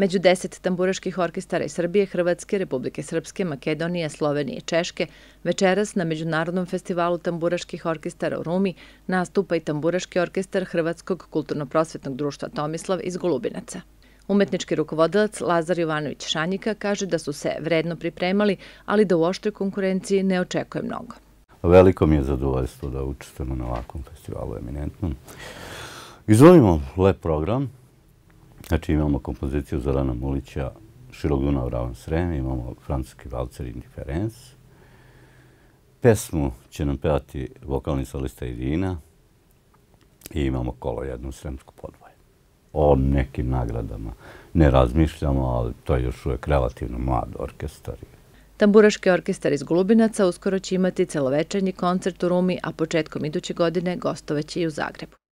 Među 10 tamburaških orkestara iz Srbije, Hrvatske, Republike Srpske, Makedonije, Slovenije i Češke večeras na Međunarodnom festivalu tamburaških orkestara u Rumi nastupa i tamburaški orkestar Hrvatskog kulturno-prosvetnog društva Tomislav iz Golubinaca. Umetnički rukovodilac Lazar Jovanović Šanjika kaže da su se vredno pripremali, ali da u oštroj konkurenciji ne očekuje mnogo. Veliko mi je zadovoljstvo da učestvujemo na ovakvom festivalu eminentnom. Izvolimo lep program. Znači imamo kompoziciju Zorana Mulića Širok Dunav, ravan Srem, imamo francuski valcer Indiference. Pesmu će nam pevati vokalni solista Irina i imamo kolo jednu sremsku podvoje. O nekim nagradama ne razmišljamo, ali to je još uvijek relativno mlad orkestar. Tamburaški orkestar iz Golubinaca uskoro će imati celovečernji koncert u Rumi, a početkom iduće godine gostovaće i u Zagrebu.